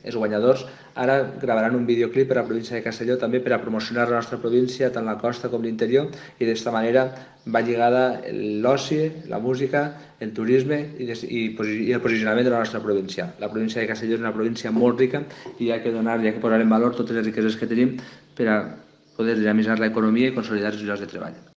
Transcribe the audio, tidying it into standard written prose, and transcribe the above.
els guanyadors ara gravaran un videoclip per a la província de Castelló també per a promocionar la nostra província, tant la costa com l'interior, i d'esta manera va lligada l'oci, la música, el turisme i el posicionament de la nostra província. La província de Castelló és una província molt rica i hi ha que posar en valor totes les riqueses que tenim per a poder dinamitzar l'economia i consolidar els llocs de treball.